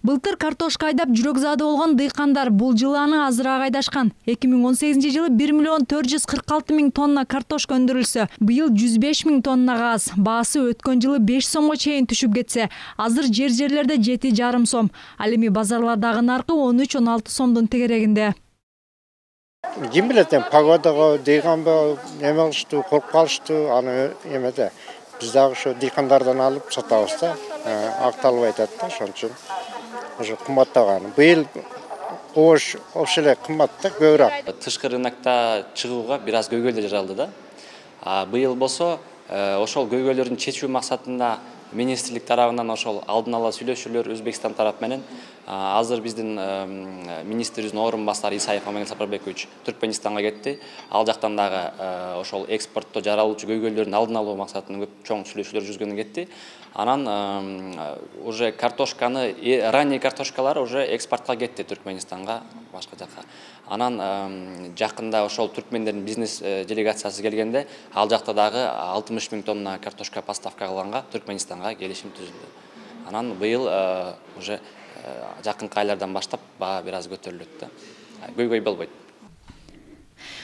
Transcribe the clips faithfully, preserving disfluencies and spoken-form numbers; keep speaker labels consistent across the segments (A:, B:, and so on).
A: Былтыр картошка айдап жүрөк заады болгон дыйкандар бул жылы аны азыраак айдашкан. эки миң он сегизинчи жылы бир миллион төрт жүз кырк алты миң тонна картошка өндүрүлсө, быйыл жүз беш миң тоннага аз. Баасы өткөн жылы беш сомго чейин түшүп кетсе, азыр жер-жерлерде жети жарым сом. Ал эми базарлардагы наркы он үч он алты сомдун тегерегинде.
B: Ким билет, погодага дыйканбы эме кылыштуу, коркуп калыштуу, аны эмеде. Биз дагы ошо дыйкандардан алып сатабыз да, акталып айтат да, ошон үчүн уже кымбаттаган. Быйыл ош ошо эле кымбат да, көбүрөөк.
C: Тышкы рынокто чыгууга бир аз көйгөйлөр жаралды да. А быйыл болсо ошол көйгөйлөрдүн чечүү максатында министрлик тарабынан ошол алдын ала сүйлөшүүлөр Өзбекстан тарап менен азыр биздин министрибиздин орун басары Исаев Амангел Сапарбекович Түркменистанга кетти. Ал жактан дагы ошол экспортто жаралуучу көйгөйлөрдүн алдын алуу максатында көп чоң сүйлөшүүлөр жүргөнү кетти. Анан уже картошканы, ранний картошкалар уже экспортко кетти Түркменистанга, башка жакка. Анан жакында ошол түркмендердин бизнес делегациясы келгенде, ал жакта дагы алтымыш миң тонна картошка поставка кылганга Түркменистанга келишим түзүлдү. Анан быйыл уже жакынкы айлардан баштап баа бир аз көтөрүлөт да. Көйгөй болбойт.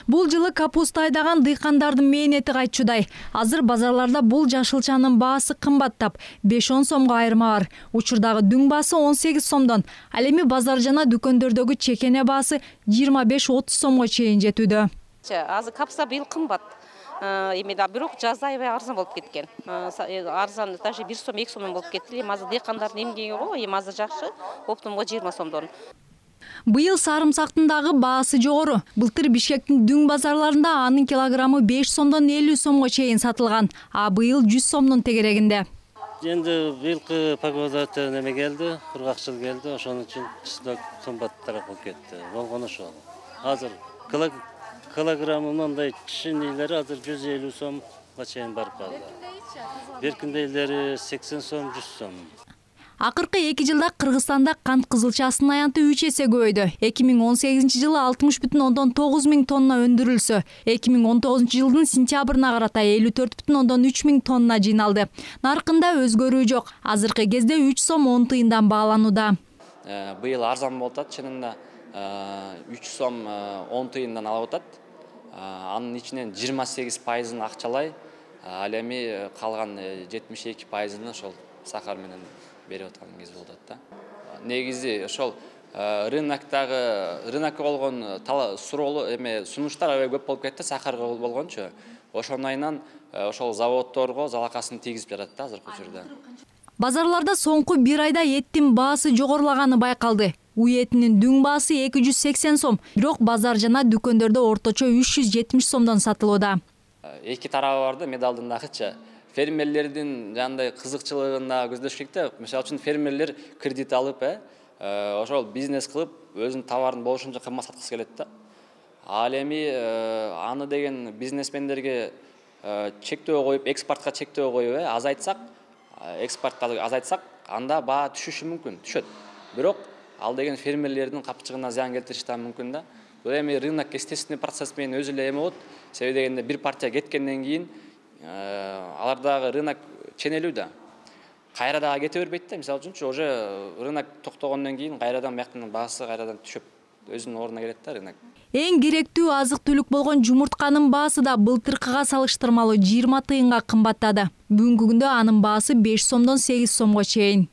A: Бул жылы капуста айдаган дыйкандардын мээнети кайтчудай. Азыр базарларда бул жашылчанын баасы кымбаттап, беш он сомго айырма бар. Учурдагы дүң баасы он сегиз сомдон. Ал эми базар жана дүкөндөрдөгү чекене баасы жыйырма беш отуз сомго чейин жетүүдө.
D: Азыр капуста быйыл кымбат. Эми да бирок жазда аябай арзан болуп кеткен. Арзан даже бир сом эки сомдон болуп кетти. Эми азыр дыйкандардын эмгеги го, эми азыр жакшы. Оптумга жыйырма сомдон.
A: Быйыл сарымсактын дагы баасы жогору. Былтыр Бишкектин дүң базарларында анын килограммы беш сомдон элүү сомго чейин сатылган, а быйыл жүз сомдун тегерегинде.
E: Енді быйылкы погода неме келди, кургакчыл келди, ошон үчүн кышта кымбаттараак болуп кетти. Болгону ошол. Азыр килограммы мындай чынилери азыр жүз элүү сомго чейин барып калды. Беркиндейлери сексен сом, жүз сом.
A: Акыркы эки жылда Кыргызстанда кант кызылчасынын аянты үч эсе көбөйдү. эки миң он сегизинчи жылы алтымыш бүтүн ондон тогуз миң тонна өндүрүлсө, эки миң он тогузунчу жылдын сентябрына карата элүү төрт бүтүн ондон үч миң тонна жыйналды. Наркында өзгөрүү жок. Азыркы кезде үч сом он тыйындан бааланууда.
C: Быйыл арзан болуп атат, чынында үч сом он тыйындан алып атат. Анын ичинен жыйырма сегиз пайызын акчалай, ал эми калган жетимиш эки пайызын ошол сахар менен берип аткан кез болуп атат да. Негизи ошол рыноктогу рынокко болгон суроолу эме сунуштар аябай көп болуп кетти, сахарга болгончу. Ошондайынан ошол заводдорго залакасын тийгизип жатат да азыркы учурда.
A: Базарларда соңку бир айда эттин баасы жогорулаганы байкалды. Уй этинин дүң баасы эки жүз сексен сом, бирок базар жана дүкөндөрдө орточо үч жүз жетимиш сомдон сатылууда.
C: Эки тарабы бар да медалдын дагычы. Фермерлердин жандай кызыкчылыгында көздөш керек да. Мисалы үчүн фермерлер кредит алып, ошол бизнес кылып, өзүнүн товарын болушунча кымбат саткысы келет да. Ал эми аны деген бизнесмендерге чектөө коюп, экспортко чектөө коюп, азайтсак, экспортто азайтсак, анда баа түшүшү мүмкүн, түшөт. Бирок ал деген фермерлердин капчыгына зыян келтириши да мүмкүн да. Бул эми рынок естественный процесс менен өзү эле эме болот. Себеби дегенде бир партия кеткенден кийин алардагы рынок ченелүү да. Кайра дагы кете бербейт да. Мисалы үчүн уже рынок токтогондон кийин кайрадан бияктын баасы кайрадан түшүп, өзүнүн ордуна келет да рынок.
A: Эң керектүү азык-түлүк болгон жумуртканын баасы да былтыркыга салыштырмалуу жыйырма тыйынга кымбаттады. Бүгүнкү күндө анын баасы беш сомдон сегиз сомго чейин.